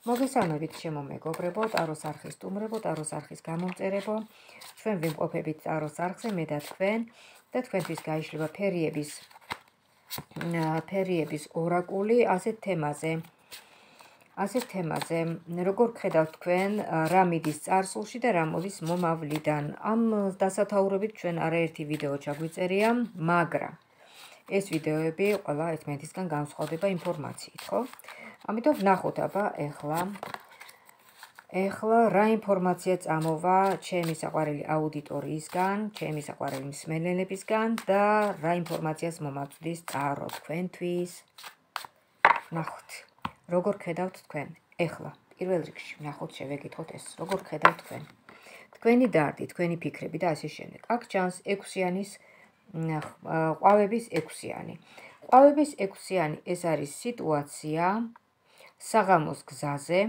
მოგესალმებით ჩემო მეგობრებო, ტაროს არხის სტუმრებო, ტაროს არხის გამომწერებო. ჩვენ ვიმყოფებით ტაროს არხზე, მე და თქვენთვის გაიშლება ფერიების ორაკული ასეთ თემაზე, როგორ გხედავთ თქვენ რა მიდის წარსულში და რა მოდის მომავლიდან. ამ დასათაურებით ჩვენ არაერთი ვიდეო ჩაგვიწერია, მაგრამ ეს ვიდეოები ყველა ერთმანეთისგან განსხვავდება ინფორმაციით, ხო? ამიტომ ვნახოთ აბა ეხლა რა ინფორმაცია წამოვა ჩემი საყვარელი აუდიტორიისგან, ჩემი საყვარელი მსმენელებისგან და რა ინფორმაციას მომაწვდის წარო თქვენთვის. ვნახოთ, როგორ ხედავთ თქვენ. ეხლა პირველ რიგში ვნახოთ, შევეკითხოთ ეს, როგორ ხედავთ თქვენ. თქვენი დარდი, თქვენი ფიქრები და ასე შემდეგ. აქ ჩანს 6-იანის ყვავების 6-იანი. ყვავების 6-იანი ეს არის სიტუაცია საღამოს გზაზე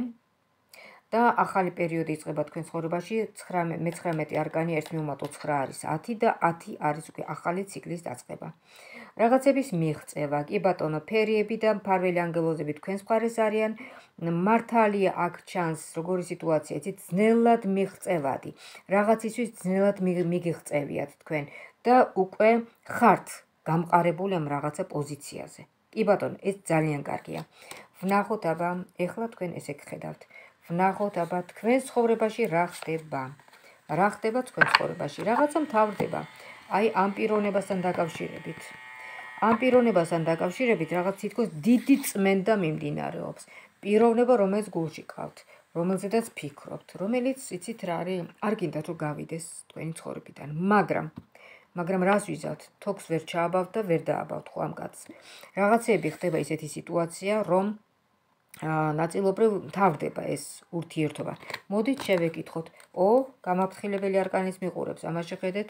და ახალი პერიოდი იწყება თქვენ ცხოვრებაში. 19 არკანი 1-9 არის 10 და 10 არის უკვე ახალი ციკლის დაწყება. რაღაცების მიღწევა, კი ბატონო, ფერიები და მფარველი ანგელოზები თქვენს მხარეს არიან. მართალია აქ ჩანს როგორი სიტუაცია, იცით, ძნელად მიღწევადი. რაღაცისთვის ძნელად მიგიღწევიათ თქვენ და უკვე ხართ გამყარებული ამ რაღაცა პოზიციაზე. კი ბატონო, ეს ძალიან კარგია. ვნახოთ აბა, ეხლა თქვენ ესე გხედავთ. ვნახოთ აბა თქვენ ცხოვრებაში რა ხდება. რა ხდება თქვენ ცხოვრებაში? რაღაცა მთავრდება. აი ამ პიროვნებასთან დაკავშირებით. ამ პიროვნებასთან დაკავშირებით რაღაც თითქოს დიდი წმენდა მიმდინარეობს. პიროვნება, რომელიც გულში გყავთ, რომელზედაც ფიქრობთ, რომელიც იცით რა არის, არ გინდათ რომ გავიდეს თქვენი ცხოვრებიდან. მაგრამ რას ვიზავთ? თოქს ვერ ჩააბავთ და ვერ დააბავთ ხო ამ კაცს. რაღაცეები ხდება ისეთი სიტუაცია, რომ ნაწილობრივ მთავრდება ეს ურთიერთობა. მოდით შევეკითხოთ. გამაფრთხილებელი არკანის მიყურებს. ამას შეხედეთ.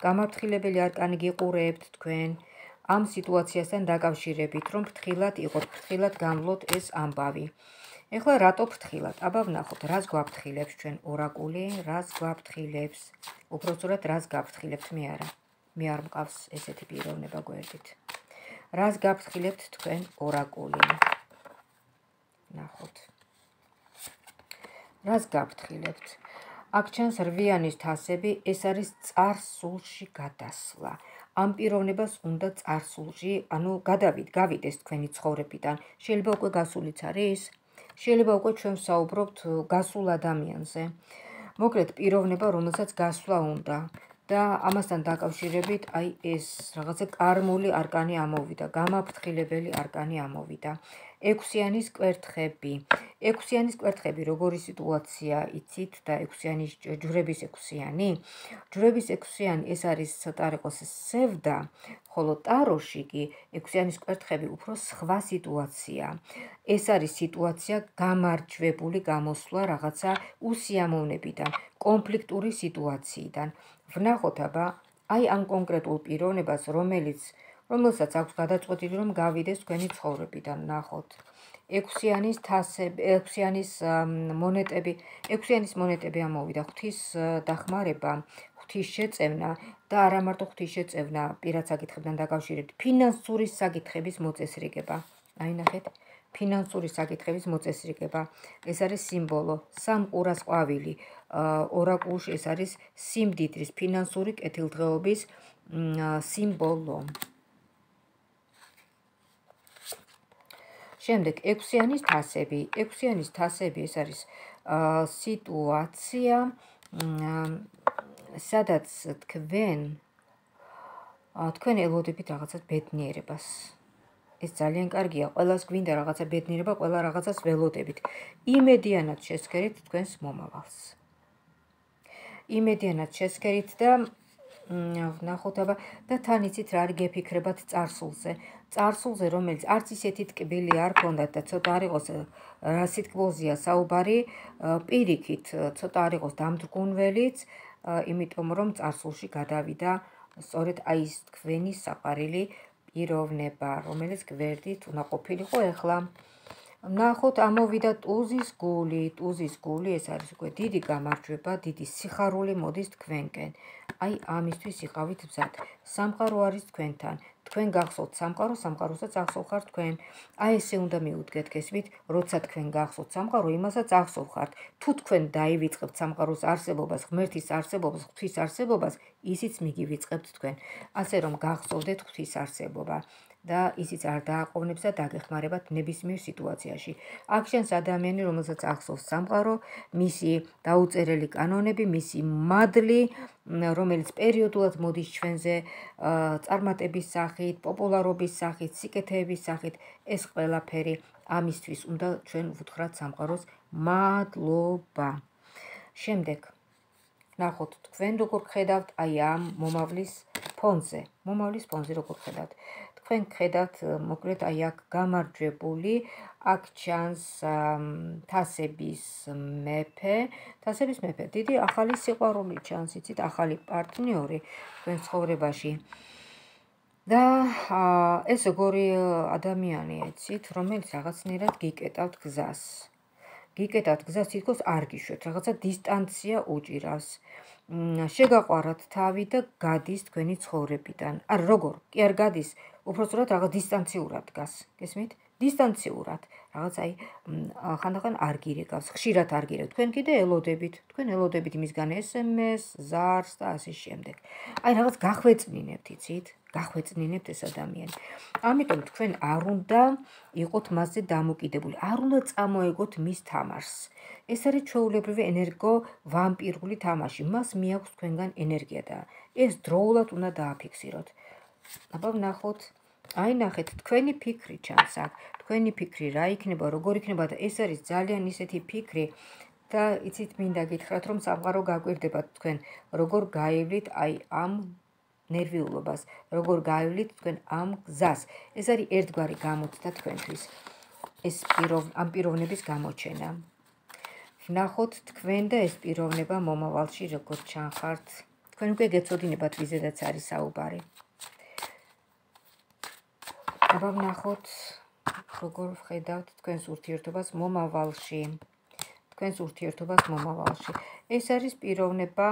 გამაფრთხილებელი არკანი გიყურებთ თქვენ ამ სიტუაციასთან დაკავშირებით, რომ ფრთხილად იყოთ, ფრთხილად გამვლოთ ეს ამბავი. ეხლა რატო ფრთხილად? აბა ვნახოთ, რას გვაფრთხილებს ჩვენ ორაკული, რას გვაფრთხილებს? უпростоრად რას გაფრთხილებთ მე არა. მე არ მყავს ესეთი პიროვნება გვერდით. რას გაფრთხილებთ თქვენ ორაკული? ნახოთ. რას გაფრთხილებთ? აქ ჩანს 8-იანის თასები, ეს არის წარსულში გადასვლა. ამ პიროვნებას უნდა წარსულში, გავიდეს თქვენი ცხოვრებიდან. შეიძლება უკვე გასულიც არის, შეიძლება უკვე ჩვენ ვსაუბრობთ გასულ ადამიანზე. მოკლედ პიროვნება, რომელსაც გასვლა უნდა და ამასთან დაკავშირებით აი ეს რაღაცა კარმული არკანი ამოვიდა, გამაფრთხილებელი არკანი ამოვიდა. 6-იანის კვერთხები. 6-იანის კვერთხები როგორი სიტუაცია იცით და 6-იანი ჯვრების 6-იანი? ჯვრების 6-იანი ეს არის ცოტა არ იყოს სევდა, ხოლო ტაროში კი 6-იანის კვერთხები უფრო სხვა სიტუაცია. ეს არის სიტუაცია გამარჯვებული გამოსვლა რაღაცა უსიამოვნებიდან, კონფლიქტური სიტუაციიდან. ვნახოთ აბა, აი ამ კონკრეტულ პიროვნებას, რომელსაც აქვს გადაწყვეტილი რომ გავიდეს თქვენი ცხოვრებიდან. ნახოთ. 6-იანის თასები, 6-იანის მონეტები ამოვიდა. ღვთის დახმარება, ღვთის შეწევნა და არა მარტო ღვთის შეწევნა პირად საკითხებთან დაკავშირებით, ფინანსური საკითხების მოწესრიგება. აი ნახეთ, ფინანსური საკითხების მოწესრიგება. ეს არის სიმბოლო, სამყურას ყვავილი. ორაკულში ეს არის სიმდიდრის, ფინანსური კეთილდღეობის სიმბოლო. შემდეგ 6-იანის თასები. 6-იანის თასები ეს არის სიტუაცია, სადაც თქვენ ელოდებით რაღაცას ბედნიერებას. ეს ძალიან კარგია, ყველას გვინდა რაღაცა ბედნიერება, ყველა რაღაცას ველოდებით. იმედიანად შესქერით თქვენს მომავალს. იმედიანად შესქერით და ვნახოთ აბა და თან იცით რა არის გეფიქრებათ წარსულზე. წარსულზე, რომელიც არც ისეთი ტკბილი არ ქონდათ და ცოტა არ იყოს რა სიტყვოზია საუბარი, პირიქით ცოტა არ იყოს დამდგუნველიც, იმიტომ რომ წარსულში გადავიდა სწორედ აი ეს თქვენი საყვარელი პიროვნება, რომელიც გვერდით უნდა ყოფილიყო ეხლა. ნახოთ, ამოვიდა ტუზის გული. ტუზის გული ეს არის უკვე დიდი გამარჯვება, დიდი სიხარული მოდის თქვენკენ. აი ამისთვის იყავით მზად. სამყარო არის თქვენთან. თქვენ გახსოვთ სამყარო, სამყაროსაც ახსოვხართ თქვენ. აი ესე უნდა მიუდგეთ გესმით, როცა თქვენ გახსოვთ სამყარო, იმასაც ახსოვხართ. თუ თქვენ დაივიწყებთ სამყაროს არსებობას, ღმერთის არსებობას, ღვთის არსებობას, ისიც მიგივიწყებთ თქვენ. ასე რომ გახსოვდეთ ღვთის არსებობა. და ისიც არ დააყოვნებს და დაგეხმარებათ ნებისმიერ სიტუაციაში. აქ შენს ადამიანი, რომელსაც ახსოვს სამყარო, მისი დაუწერელი კანონები, მისი მადლი, რომელიც პერიოდულად მოდის ჩვენზე წარმატების სახით, პოპულარობის სახით, სიკეთეების სახით, ეს ყველაფერი ამისთვის უნდა ჩვენ ვუთხრათ სამყაროს მადლობა. შემდეგ ნახოთ თქვენ როგორ ხედავთ აი ამ მომავლის ფონზე. მომავლის ფონზე როგორ ხედავთ? თქვენ ხედავთ მოკლედ აი აქ გამარჯვებული, აქ ჩანს თასების მეფე, დიდი ახალი სიყვარული ჩანს, იცით, ახალი პარტნიორი თქვენ ცხოვრებაში. და ეს როგორი ადამიანი ეცით, რომელიც რაღაცნაირად გიკეტავთ გზას. თითქოს არ გიშვებთ, რაღაცა დისტანცია უჭირავს. შეგაყვარათ თავი და გადის თქვენი ცხოვრებიდან. არ როგორ? კი არ გადის, უпростоრად რაღაც დისტანციურად დგას. გესმით? დისტანციურად. რაღაც აი ხანდახან არ გირეკავს, ხშირად არ გირეკავს. თქვენ კიდე ელოდებით, იმისგან SMS, ზარს და ასე შემდეგ. აი რაღაც გახვეწნინებთ, იცით? გახვეწნინებთ ეს ადამიანი. ამიტომ თქვენ არ უნდა იყოთ მასზე დამოკიდებული, არ უნდა წამოეგოთ მის თამაშს. ეს არის ჩვეულებრივი ენერგო ვამპირული თამაში. მას მიაქვს თქვენგან ენერგია და ეს დროულად უნდა დააფიქსიროთ. აბა ვნახოთ. აი ნახეთ, თქვენი ფიქრი ჩანს აქ. თქვენი ფიქრი რა იქნება, როგორ იქნება და ეს არის ძალიან ისეთი ფიქრი და იცით, მინდა გითხრათ, რომ სამყარო გაკვირდებათ თქვენ, როგორ გაივლით აი ამ ნერვიულობას, როგორ გაივლით თქვენ ამ გზას. ეს არის ერთგვარი გამოცდა თქვენთვის. ეს ამ პიროვნების გამოჩენა. ვნახოთ თქვენ და ეს პიროვნება მომავალში როგორ ჩანხართ. თქვენ უკვე გეცოდინებათ ვიზედაც არის საუბარი. აბა ვნახოთ როგორ ვხედავთ თქვენს ურთიერთობას მომავალში. ეს არის პიროვნება,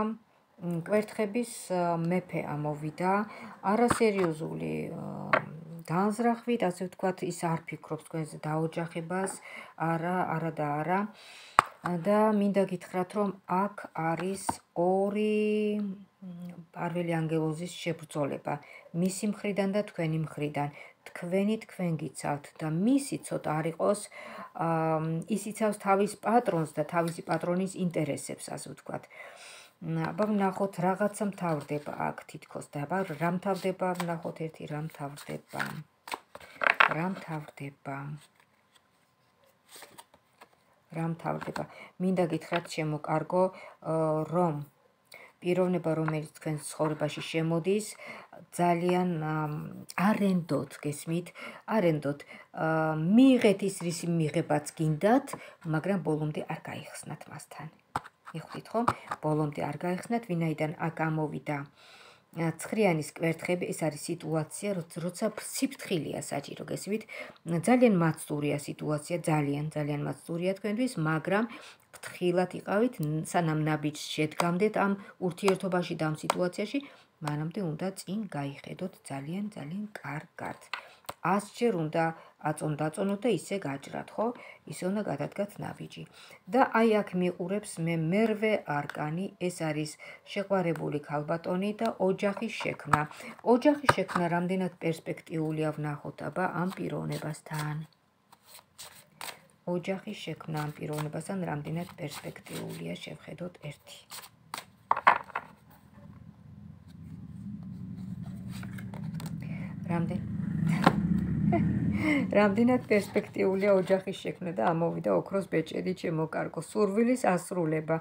კვერთხების მეფე ამოვიდა, არასერიოზული განზრახვით, ასე ვთქვათ, ის არ ფიქრობს თქვენზე დაოჯახებას, არა და მინდა გითხრათ, რომ აქ არის ორი პარველი ანგელოზის შებრძოლება, მისი მხრიდან და თქვენი მხრიდან. თქვენ გიცავთ და მისი ცოტა არ იყოს, ის იცავს თავის პატრონს და თავისი პატრონის ინტერესებს, ასე ვთქვათ. აბა ვნახოთ რაღაცა მთავრდება აქ თითქოს და აბა რა მთავრდება, ვნახოთ ერთი რა მთავრდება. მინდა გითხრათ შემოკარგო, რომ პიროვნება, რომელიც თქვენ ცხოვრებაში შემოდის, ძალიან არენდოთ, გესმით, მიიღეთ ის რისი მიღებაც გინდათ, მაგრამ ბოლომდე არ გაიხსნათ მასთან. მიხვდით ხომ? ბოლომდე არ გაიხსნათ, ვინაიდან აქ ამოვიდა ცხრიანის კვერთხები, ეს არის სიტუაცია, როცა სიფრთხილეა საჭირო, გესმით? ძალიან მაცდურია სიტუაცია, ძალიან მაცდურია თქვენთვის, მაგრამ ფრთხილად იყავით, სანამ ნაბიჯს შედგამდეთ ამ ურთიერთობაში და ამ სიტუაციაში, მანამდე უნდა წინ გაიხედოთ ძალიან კარგად. 100-ჯერ უნდა აწონდაწონოთ და ისე გაჭრათ, ხო? ისე უნდა გადადგათ ნაბიჯი. და აი აქ მიყურებს მე მერვე არკანი, ეს არის შეყვარებული ქალბატონი და ოჯახის შექმნა. ოჯახის შექმნა რამდენად პერსპექტიულია ვნახოთ აბა ამ პიროვნებასთან. ოჯახის შექმნა ამ პიროვნებასთან რამდენად პერსპექტიულია, შევხედოთ ერთი. რამდენად პერსპექტიულია ოჯახის შექმნა და ამოვიდა ოქროს ბეჭედი ჩემო კარგო, სურვილის ასრულება,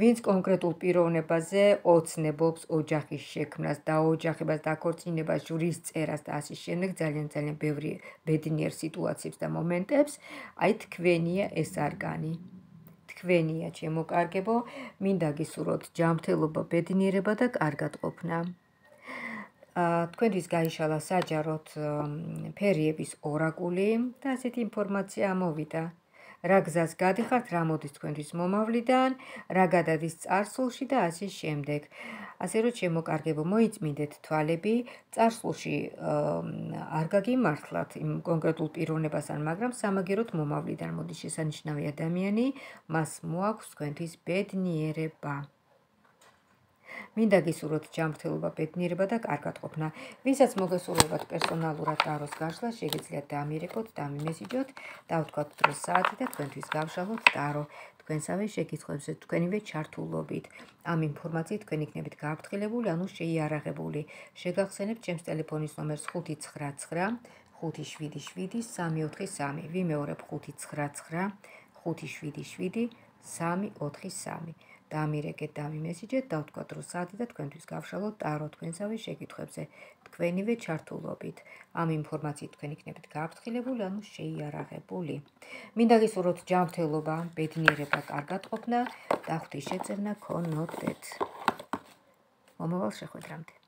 ვინც კონკრეტულ პიროვნებაზე ოცნებობს ოჯახის შექმნას, დაოჯახებას, დაქორწინებას, ჟურის წერას და ასე შემდეგ, ძალიან ბევრი ბედნიერ სიტუაციებს და მომენტებს, აი თქვენია ეს არკანი. თქვენია ჩემო კარგებო, მინდა გისურვოთ ჯანმრთელობა, ბედნიერება და კარგად ყოფნა. თქვენთვის გაიშალა საჯაროდ ფერიების ორაკული და ასეთი ინფორმაცია ამოვიდა. რა გზას გადიხართ, რა მოდის თქვენთვის მომავლიდან, რა გადადის წარსულში და ასე შემდეგ. ასე რომ შემოკარგებო მოიწმინდეთ თვალები, წარსულში არ გაგიმართლათ იმ კონკრეტულ პიროვნებასთან, მაგრამ სამაგეროთ მომავლიდან მოდის შესანიშნავი ადამიანი, მას მოაქვს თქვენთვის ბედნიერება. მინდა გისურვოთ ჯანმრთელობა, ბედნიერება და კარგად ყოფნა. ვისაც მოგესურვებათ პერსონალურად ტაროს გაშლა, შეგიძლიათ დამირეკოთ, დამიმესიჯოთ, დავთქვათ დროს საათი და თქვენთვის გავშალოთ ტარო. თქვენსავე შეკითხვებზე თქვენივე ჩართულობით. ამ ინფორმაციით თქვენ იქნებით გააფრთხილებული, ანუ შეიარაღებული. შეგახსენებთ ჩემს ტელეფონის ნომერს 599 577 343. ვიმეორებ 599 577 343. დამირეკეთ, დამიმესიჯეთ, დავთქვათ დროს საათი და თქვენთვის გავშალოთ ტარო თქვენსავე შეკითხვებზე. თქვენივე ჩართულობით. ამ ინფორმაციით თქვენ იქნებით გააფრთხილებული, ანუ შეიარაღებული. მინდა გისურვოთ ჯანმრთელობა, ბედნიერება, კარგად ყოფნა და ღვთის შეწევნა გქონოდეთ. მომავალ შეხვედრამდე.